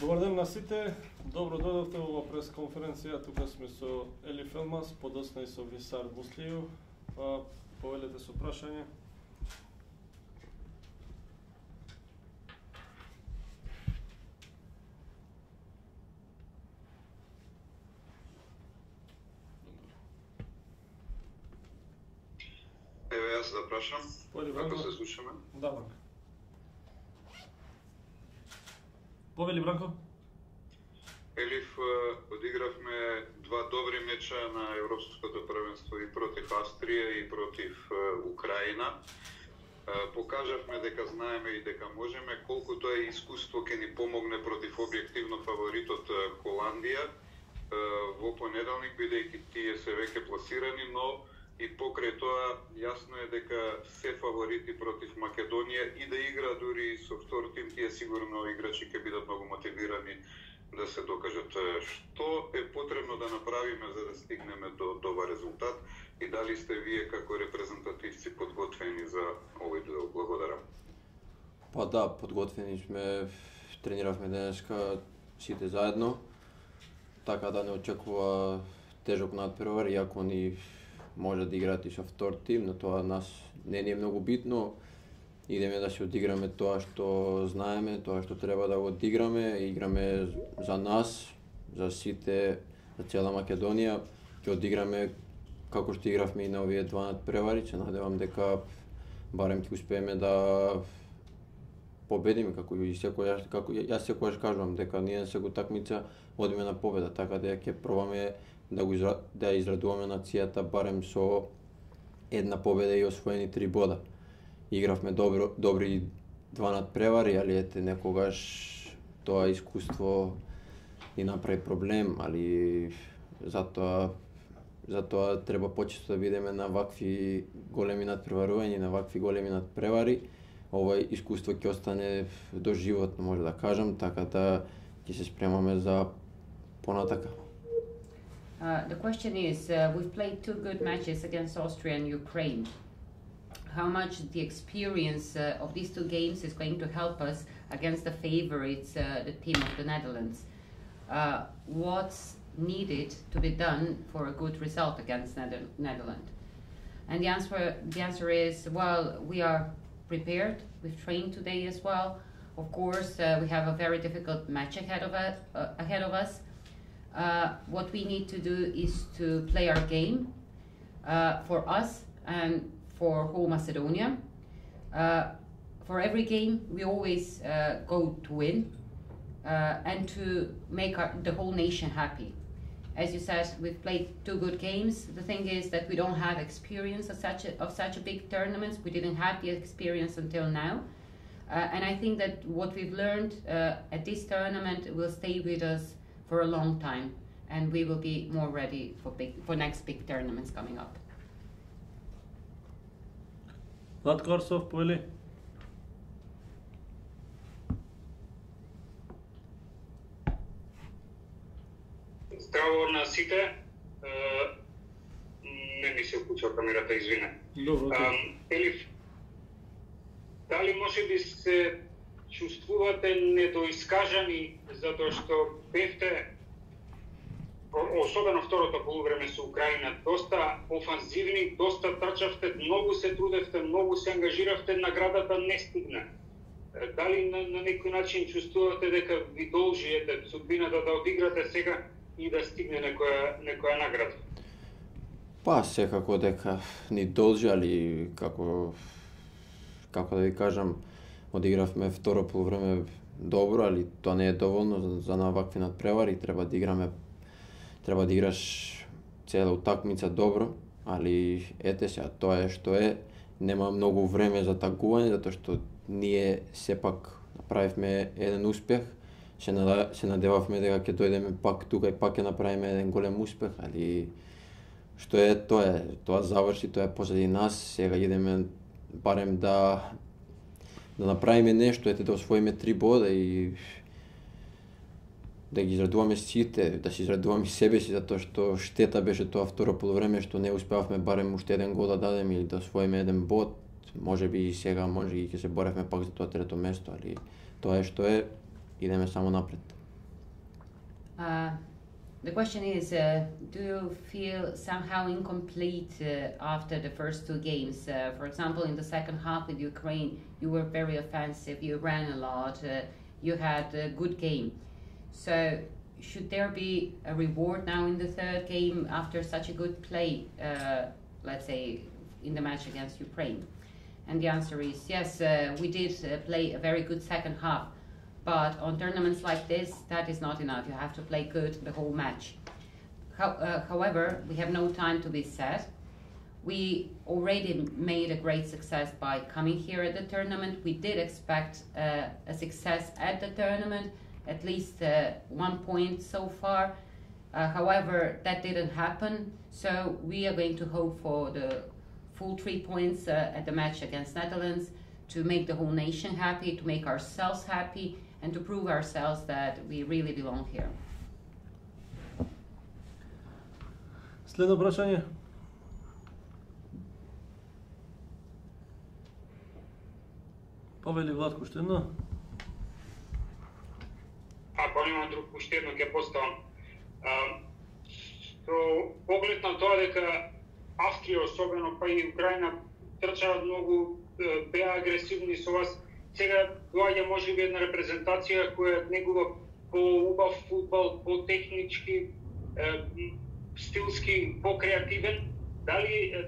Добар ден на сите, добро дојдовте во пресконференција, тука сме со Елиф Елмаз, подосна и со Висар Муслију, повелете со прашање. Еве јас да прашам, Ако се слушаме. Да, Бранко. Повели, Бранко? Елиф, одигравме два добри меча на Европското првенство и против Австрија и против Украина. Покажавме дека знаеме и дека можеме, колку тоа искуство ќе ни помогне против објективно фаворитот Холандија во понеделник, бидејќи тие се веќе пласирани, но и покрај тоа јасно е дека се фаворити против Македонија и да игра дури со втор тим, тие сигурно играчи ќе бидат многу мотивирани да се докажат. Што е потребно да направиме за да стигнеме до добар резултат и дали сте вие како репрезентативци подготвени за овој дуел? Благодарам. Па да, подготвени сме, трениравме денеска сите заедно, така да не очекува тежок натпревар, иако ни може да играат и со втор тим, но тоа нас не ни е многу битно. Идеме да се одиграме тоа што знаеме, тоа што треба да го одиграме, играме за нас, за сите, за цела Македонија, ќе одиграме како што игравме и на овие два надпревари, се надевам дека барем ќе успееме да победиме, како јас секогаш кажувам дека ние секоја такмица одиме на победа, така да ќе пробаме да израдуваме нацијата барем со една победа и освоени 3 бода. Игравме добри два надпревари, али ете некогаш тоа искуство ни направи проблем, али затоа треба почесто да видиме на вакви големи надпреварувања, на вакви големи надпревари. Ова искуство ќе остане доживотно, може да кажам, така да ќе се спремаме за понатака. The question is, we've played 2 good matches against Austria and Ukraine. How much the experience of these 2 games is going to help us against the favorites, the team of the Netherlands? What's needed to be done for a good result against Netherlands? And the answer is, well, we are prepared. We've trained today as well. Of course, we have a very difficult match ahead of us. What we need to do is to play our game for us and for whole Macedonia. For every game, we always go to win and to make the whole nation happy. As you said, we've played 2 good games. The thing is that we don't have experience of such a big tournaments. We didn't have the experience until now. And I think that what we've learned at this tournament will stay with us for a long time, and we will be more ready for next big tournaments coming up. Владко Арсов, повели. Здраво на сите. Не ми се вклучува камерата, извине. Добро. Елиф, дали може би се чувствувате недоискажани затоа што бевте, особено второто полувреме со Украина, доста офанзивни, доста трчавте, многу се трудевте, многу се ангажиравте, наградата не стигна. Дали на некој начин чувствувате дека ви должи судбината да одиграте сега и да стигне некоја награда? Па секако дека ни должи, али како да ви кажам, одигравме второ полувреме добро, али тоа не е доволно за на вакви надпревари, треба да играш цела утакмица добро, али ете сега, тоа е што е, нема многу време за тагување, затоа што ние сепак направивме еден успех, се надевавме дека ќе дојдеме пак тука и пак ќе направиме еден голем успех, али што е, тоа заврши, тоа е позади нас, сега идеме барем да направиме нешто, да освоиме 3 бода и да ги израдуваме сите, да се израдуваме себе си, затоа што штета беше тоа второ полувреме што не успеавме барем уште еден гол да дадеме или да освоиме еден бод. Може би и сега, може и ќе се боревме пак за тоа трето место, али тоа е што е, идеме само напред. The question is, do you feel somehow incomplete after the first two games? For example, in the second half with Ukraine, you were very offensive, you ran a lot, you had a good game. So should there be a reward now in the third game after such a good play, let's say, in the match against Ukraine? And the answer is yes, we did play a very good second half. But on tournaments like this, that is not enough. You have to play good the whole match. However, we have no time to be sad. We already made a great success by coming here at the tournament. We did expect a success at the tournament, at least 1 point so far. However, that didn't happen. So we are going to hope for the full 3 points at the match against Netherlands to make the whole nation happy, to make ourselves happy, and to prove ourselves that we really belong here. Следно прашање. Повели Владко уште едно. Ако нема друг, уште едно ќе поставам. Со поглед на тоа дека Австрија, особено па и Украина, трчаат многу, беа агресивни со вас. Сега доаѓа можеби една репрезентација која негува по-убав фудбал, по-технички, стилски, по-креативен. Дали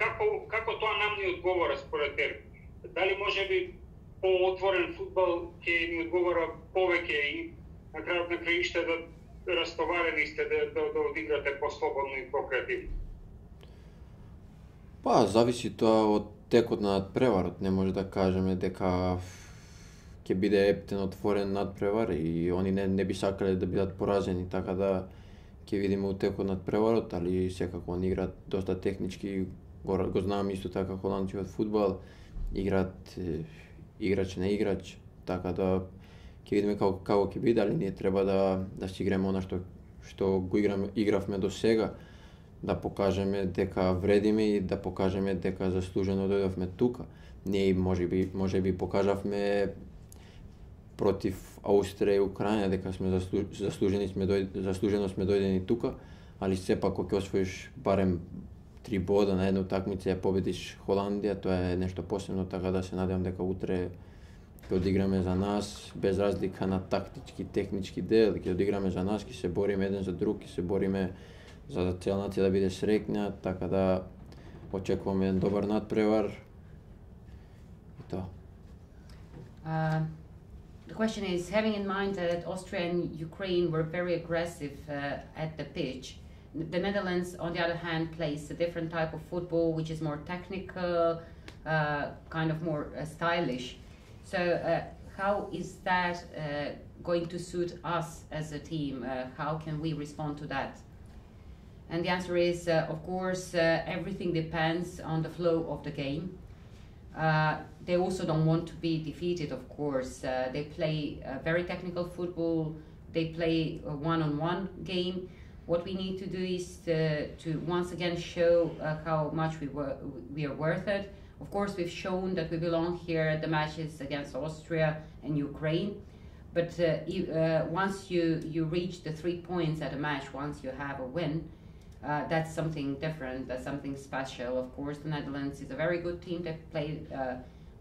како тоа нам ни одговара според тебе? Дали можеби по-отворен фудбал ќе ни одговара повеќе и на крајот на краиште да растоварени сте да одиграте по-слободно и по-креативно? Па, зависи тоа од текот на надпреварот. Не може да кажеме дека ќе биде ептен отворен надпревар и они не би сакале да бидат поразени, така да ќе видиме у текот на надпреварот, али секако они играат доста технички, го знам исто така холандците од фудбал, играат играч на играч, така да ќе видиме како ќе биде, али ние треба да си играме она што го игравме до сега, да покажеме дека вредиме и да покажеме дека заслужено дојдовме тука. Ние можеби покажавме против Австрија и Украина дека сме заслужено сме дојдени тука, али сепак кога ќе освоиш барем 3 бода на една утакмица и ја победиш Холандија, тоа е нешто посебно, така да се надевам дека утре ќе одиграме за нас, без разлика на тактички, технички дел, ќе одиграме за нас, ќе се бориме еден за друг, ќе се бориме за цела нација да биде среќна, така да очекуваме еден добар надпревар и тоа. The question is, having in mind that Austria and Ukraine were very aggressive at the pitch, the Netherlands, on the other hand, plays a different type of football, which is more technical, kind of more stylish. So how is that going to suit us as a team? How can we respond to that? And the answer is, of course, everything depends on the flow of the game. They also don't want to be defeated, of course. They play very technical football. They play a one-on-one game. What we need to do is to once again show how much we are worth it. Of course, we've shown that we belong here at the matches against Austria and Ukraine. But once you reach the 3 points at a match, once you have a win, that's something different, that's something special. Of course, the Netherlands is a very good team. They play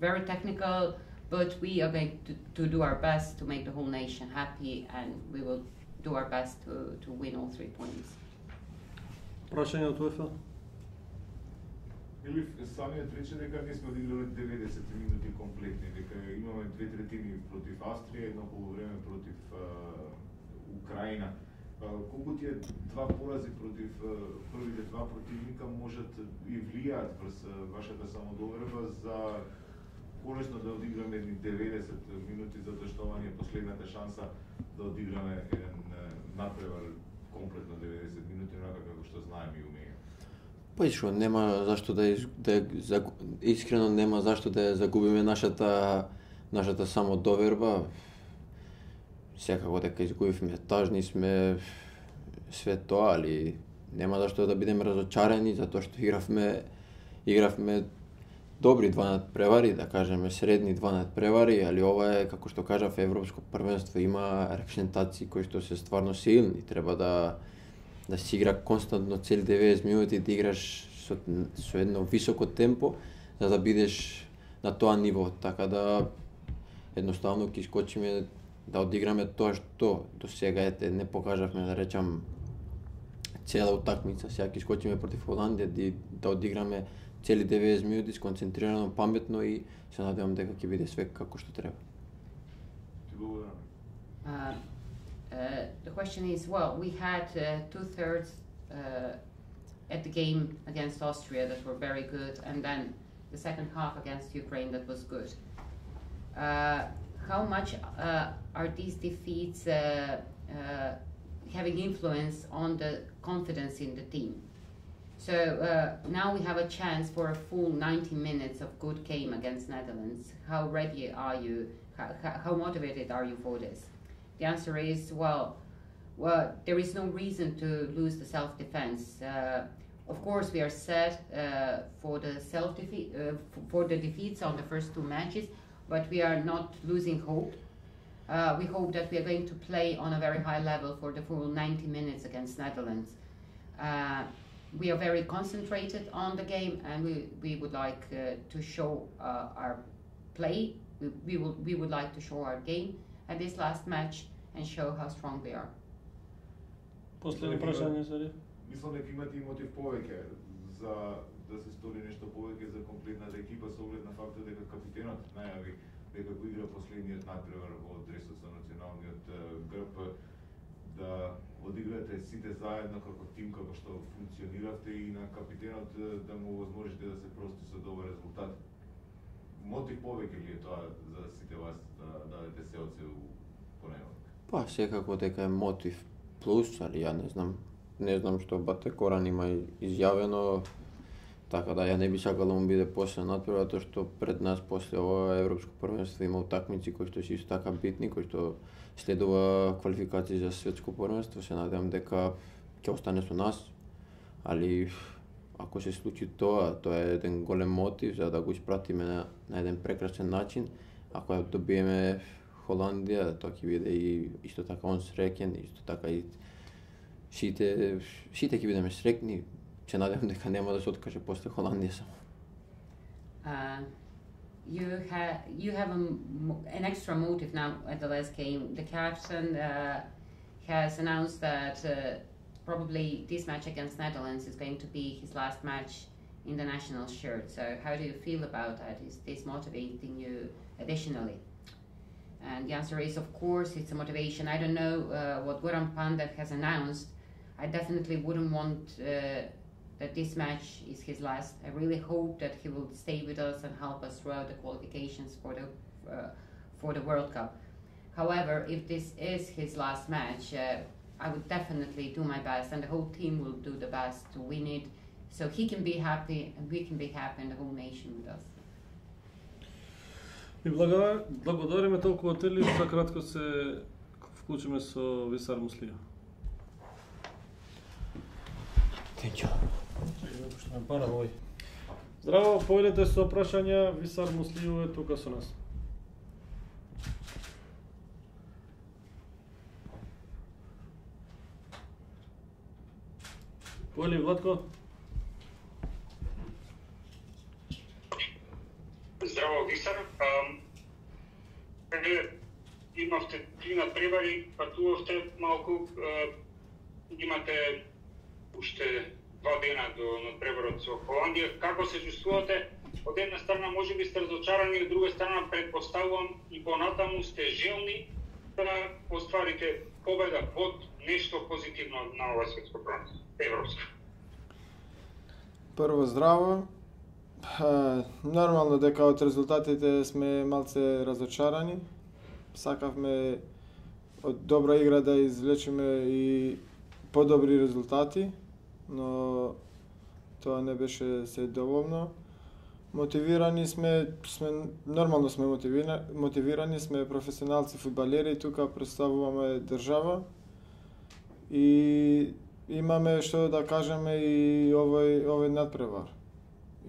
very technical, but we are going to do our best to make the whole nation happy, and we will do our best to win all 3 points. Прашање од УЕФА? Елиф, самиот рече дека не сме одиграли 90 минути комплетни, дека имаме 2/3 против Австрија, едно полувреме против Украина. Колку тие два порази против првите два противника можат и влијаат врз вашата самодоверба за конечно да одиграме 90 минути, затоа што ова е последната шанса да одиграме еден надпревар комплетно 90 минути, онака како што знаеме и умееме. Па и што, нема зашто искрено нема зашто да загубиме нашата самодоверба. Секако дека изгубивме, тажни сме, све тоа, али нема зашто да бидеме разочарени, затоа што игравме добри два надпревари, да кажеме средни два надпревари, али ова е, како што кажав, европско првенство, има репрезентации кои што се стварно силни, треба да се игра константно цели 90 минути, да играш со едно високо темпо, за да бидеш на тоа ниво, така да едноставно ќе искочиме да одиграме тоа што до сега не покажавме, да речам, цела утакмица. Сега ќе искочиме против Холандија да одиграме цели 90 минути сконцентрирано, паметно и се надевам дека ќе биде све како што треба. The question is, well, we had 2/3 at the game against Austria that were very good, and then the second half against Ukraine that was good. How much are these defeats having influence on the confidence in the team? So now we have a chance for a full 90 minutes of good game against Netherlands. How ready are you? How motivated are you for this? The answer is, well, there is no reason to lose the self-defense. Of course, we are set for the defeats on the first two matches, but we are not losing hope. We hope that we are going to play on a very high level for the full 90 minutes against Netherlands. We are very concentrated on the game, and we would like to show our play. We would like to show our game at this last match and show how strong we are. Последно прашање, Сари? Мислам дека имате и мотив повеќе за да се стори нешто повеќе за комплетната екипа со оглед на фактот дека капитенот најави дека го игра последниот надпревар во дресот со националниот грб, да одиграте сите заедно како тим, како што функциониравте, и на капитенот да му возможите да се прости со добар резултат. Мотив повеќе ли е тоа за сите вас да дадете се од се у понеделник? Па, секако дека е мотив плюс, али ја не знам што Бате Коран има изјавено, така да ја не би сакал да му биде после надпревар, тоа што пред нас после ова европско првенство има утакмици кои што се исто така битни, кои што следува квалификации за светско првенство. Се надевам дека ќе остане со нас, али ако се случи тоа е еден голем мотив за да го испратиме на еден прекрасен начин. Ако ја добиеме Холандија, тоа ќе биде и исто така он среќен, исто така и сите ќе бидеме среќни. Се надевам дека нема да се откаже после Холандија само. You have an extra motive now at the last game. The captain has announced that probably this match against Netherlands is going to be his last match in the national shirt. So how do you feel about that? Is this motivating you additionally? And the answer is, of course, it's a motivation. I don't know what Goran Pandev has announced. I definitely wouldn't want that this match is his last. I really hope that he will stay with us and help us throughout the qualifications for the World Cup. However, if this is his last match, I would definitely do my best, and the whole team will do the best to win it, so he can be happy and we can be happy and the whole nation with us. И благодариме толку од Елиф, за кратко се вклучиме со Висар Муслиев. Thank you. Здраво, појдете со прашања, Висар Муслиев е тука со нас. Појли, Владко? Здраво, Висар. Имавте 3 надпревари, патувавте малку, имате уште 2 дена до надпреварот со Холандија. Како се чувствувате? Од една страна може би сте разочарани, од друга страна предпоставувам и понатаму сте желни да остварите победа, под нешто позитивно на ова светско првенство, европско. Прво здраво. Нормално дека од резултатите сме малце разочарани. Сакавме од добра игра да извлечеме и подобри резултати, но тоа не беше се доволно. Мотивирани сме нормално сме мотивирани, сме професионалци фудбалери, тука представуваме држава и имаме што да кажеме и овој надпревар.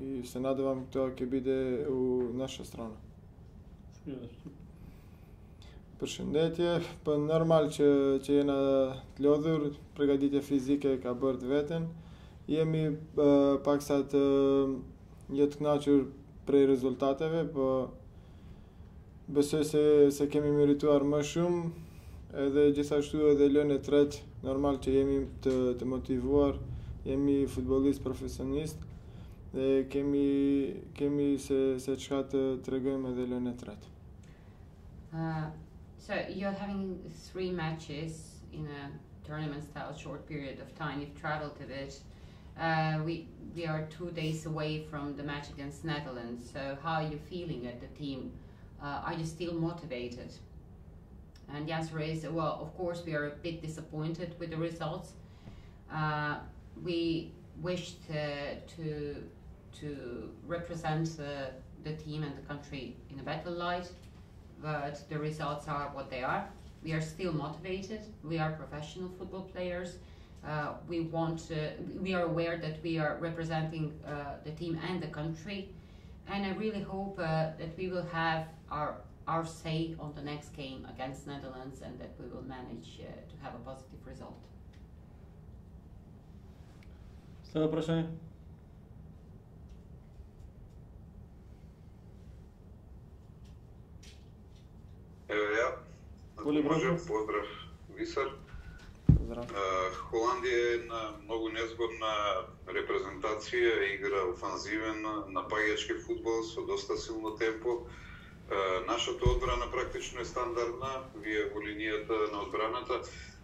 и се надевам тоа ќе биде у наша страна. Përshëndetje, po normal që jena të lodhur, përgatitja fizike ka bërë të veten. Jemi paksa të jo të kënaqur prej rezultateve, po besoj se kemi merituar më shumë, edhe gjithashtu edhe lënë e tretë, normal që jemi të motivuar, jemi futbollist profesionist dhe kemi se çka të tregojmë edhe lënë e tretë. So you're having 3 matches in a tournament-style short period of time. You've traveled a bit. We are 2 days away from the match against Netherlands. So how are you feeling at the team? Are you still motivated? And the answer is, well, of course, we are a bit disappointed with the results. We wished to represent the team and the country in a better light, but the results are what they are. We are still motivated. We are professional football players. We are aware that we are representing the team and the country, and I really hope that we will have our say on the next game against Netherlands, and that we will manage to have a positive result. Следно прашање? Ево ја. Можем, поздрав Висар. Поздрав. Холандија е една многу незгодна репрезентација, игра офанзивен, напаѓачки фудбал со доста силно темпо. Нашата одбрана практично е стандардна, вие во линијата на одбраната.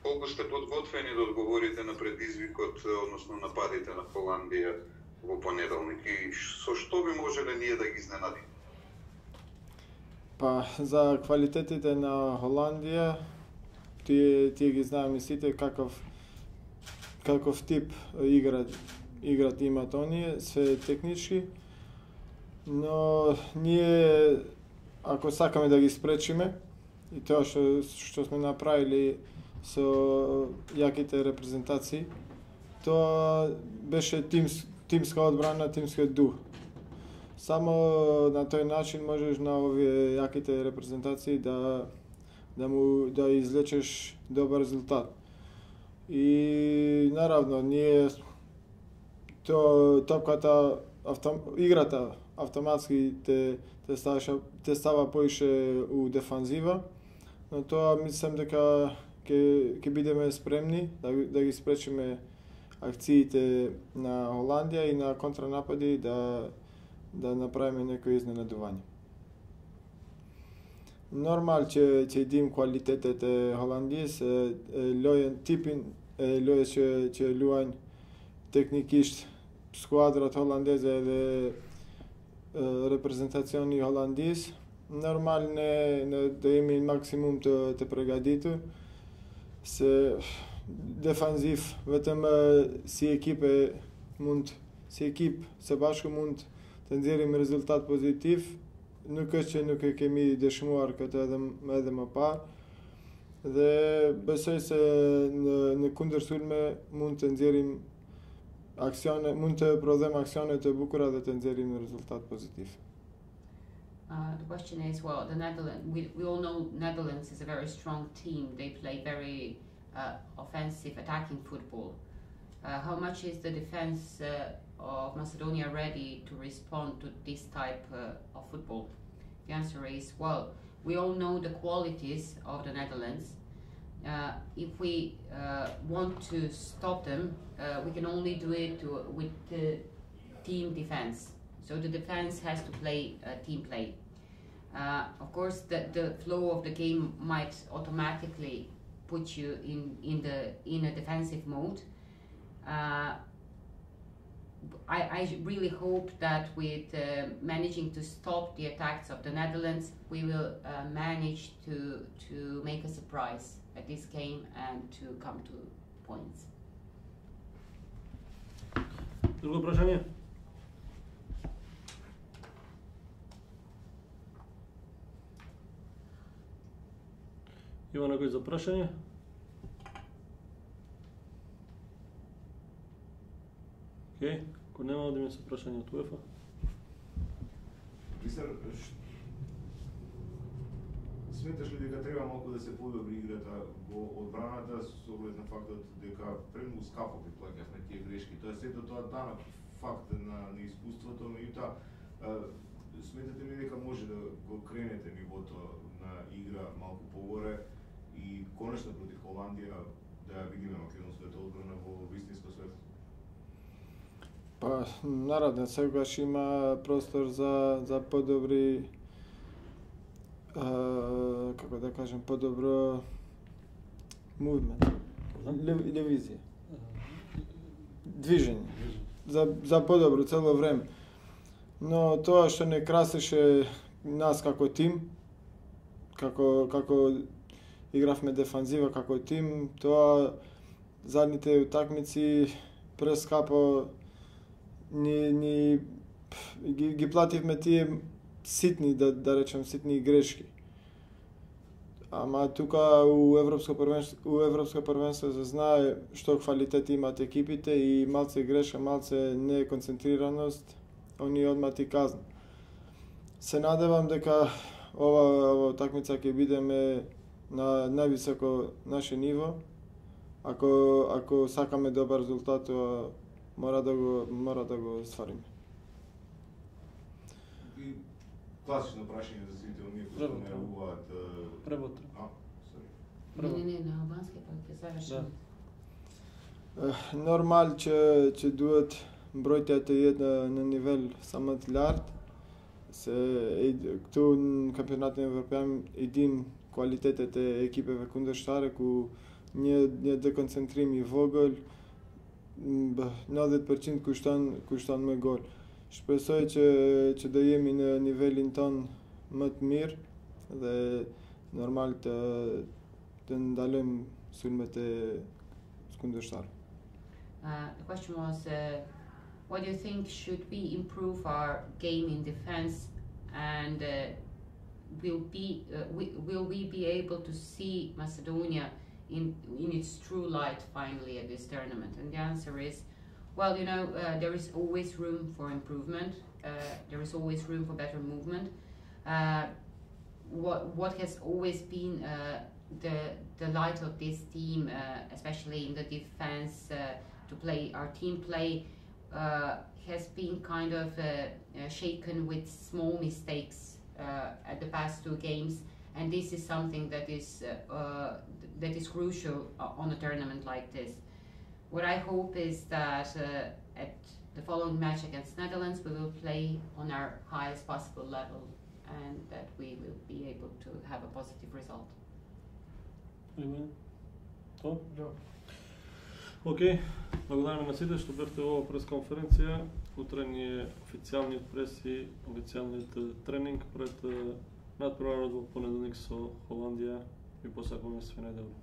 Колку сте подготвени да одговорите на предизвикот, односно нападите на Холандија во понеделник и со што би можеле ние да ги изненадиме? Па, за квалитетите на Холандија, тие ги знаеме сите каков тип играт имат оние, се технички, но ние ако сакаме да ги спречиме и тоа што сме направили со јаките репрезентации, тоа беше тимска одбрана, тимски дух. Само на тој начин можеш на овие јаките репрезентации да извлечеш добар резултат. И наравно ние топката, играта автоматски те става поише у дефанзива, но тоа мислам дека ќе бидеме спремни да ги спречиме акциите на Холандија и на контранапади да направиме некои изненадување. Нормал ќе дим квалитетите Холандијс, лојен типин, лоје ќе луањ техникишт сквадрат холандезе или репрезентациони холандијс. Нормал да ими максимум те прегадиту. Se defanziv vetëm si ekip së bashku mund të nxjerrim rezultat pozitiv, nuk është që nuk e kemi dëshmuar këtë edhe më parë, dhe besoj se në kundërsulme mund të nxjerrim aksione, mund të prodhojmë aksione të bukura dhe të nxjerrim rezultat pozitiv. The question is, well, the Netherlands, we all know Netherlands is a very strong team. They play very offensive, attacking football. How much is the defense of Macedonia ready to respond to this type of football? The answer is, well, we all know the qualities of the Netherlands. If we want to stop them, we can only do it with the team defense. So the defense has to play team play. Of course, the flow of the game might automatically put you in a defensive mode. I really hope that with managing to stop the attacks of the Netherlands, we will manage to make a surprise at this game and to come to points. Друго прашање? Има некој за прашање? Океј, ако нема да ми се прашање од УЕФА. Висар, сметаш ли дека треба малку да се подобри играта во одбраната со оглед на фактот дека премногу скапо ги плаќавме тие грешки? Тоа сето тоа данок факт на искуството, меѓутоа сметате ли дека може да го кренете нивото на игра малку погоре и конечно против Холандија да ја видиме македонската одбрана во вистинско светло? Па, наравно, секогаш има простор за подобри, како да кажем, подобро мувмент, визија, движење, за подобро цело време. Но тоа што не красеше нас како тим, како игравме дефанзива како тим, тоа задните утакмици прескапо ги плативме тие ситни, да речем, ситни грешки. Ама тука у Европско првенство се знае што квалитет имаат екипите и малце грешка, малце неконцентрираност, они одма ти казна. Се надевам дека ова утакмица ќе бидеме на највисоко наше ниво. Ако сакаме добар резултат, тоа мора да го ствариме. И класично прашање за сите оние кои што не рагуваат. Преботро. Не, на албански па ќе завршиме. Нормал ќе дуат бројките на нивел самот ларт. Ту кампионатот на Европеан един квалитетите екипе кундештаре ку ние деконцентрими во гол 90% куштан ме гол. Шпесој ќе да јеми на нивелин тон мът мир, да нормал да далем сулмете скундештар. The question was, what do you think should we improve our game in defense, and will we be able to see Macedonia in its true light finally at this tournament? And the answer is, well, there is always room for improvement. There is always room for better movement. What has always been the light of this team, especially in the defense, to play our team play, has been kind of shaken with small mistakes at the past two games, and this is something that is crucial on a tournament like this. What I hope is that at the following match against Netherlands we will play on our highest possible level, and that we will be able to have a positive result. Океј, благодараме на сите што бевте во пресконференција. Утре ни е официјалниот прес и официјалниот тренинг пред надпреварот во понеделник со Холандија. Ви посакуваме све најдобро.